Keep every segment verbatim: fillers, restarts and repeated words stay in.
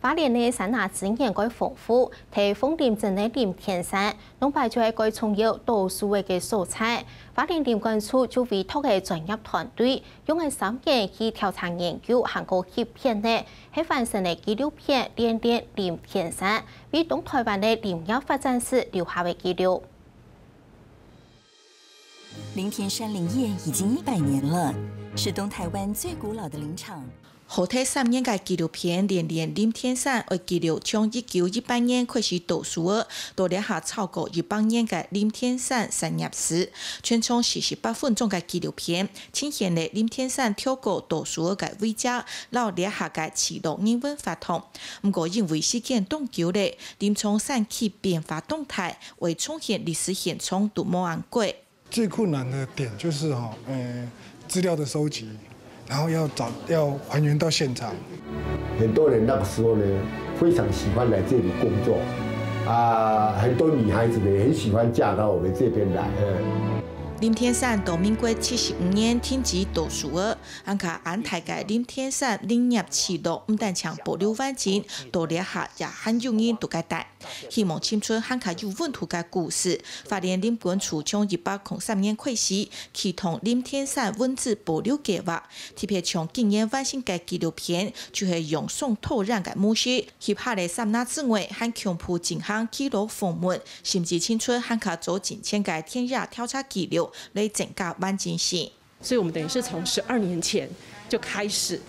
花蓮个山林資源蓋豐富，在鳳林鎮个林田山， 龍牌就係該重要倒樹仔个所在。花蓮林管處就委託个專業團隊，用个三年去調查研究還過翕片呢，係完成个紀錄片《戀戀林田山》，為東臺灣个林業發展史留下个記錄。林田山林業已經一百年了，是東臺灣最古老的林場。 好大三年个紀錄片《戀戀林田山》愛記錄從一九一八年開始倒樹仔，到這下超過一百年个林田山產業史。全長四十八分鐘个紀錄片，呈現了林田山挑高倒樹仔个位置，摎這下个聚落人文活動。毋過因為時間當久了，林場山區變化當大，愛重現歷史現狀都無恁過。 最困難的點就是哈，呃，資料的收集，然後要找要還原到現場。很多人那個時候呢，非常喜歡來這裡工作，啊，很多女孩子呢也很喜歡嫁到我們這邊來。嗯。林田山到民國七十五年停止倒樹仔，恁較恁大个林田山林業聚落毋單淨保留完整，到這下也還有人在該蹛。 希望尋出還較有溫度个故事。花蓮林管處從一百空三年開始，啟動林田山文資保留計畫，特別將今年完成个紀錄片，就係用雙導覽个模式，翕下來个山林之外，還強迫進行記錄訪問，甚至尋出還較早進前个田野調查記錄，來增加完整性。 所以我們等於是從十二年前就開始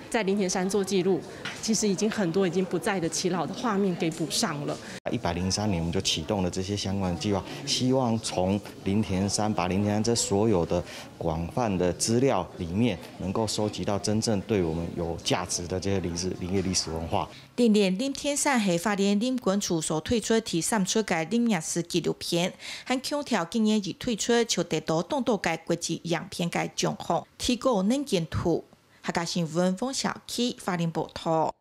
在林田山做記錄，其實已經很多已經不在的耆老的畫面給補上了。一百零三年我們就啟動了這些相關的計劃，希望從林田山，把林田山這所有的廣泛的資料裡面，能夠收集到真正對我們有價值的這些林業歷史文化。 戀戀林田山係花蓮林管處所推出第三齣个林業史紀錄片，還強調今年一推出就得到當多个國際影片个獎項，提高能見度。客家新聞黃小琪花蓮報導。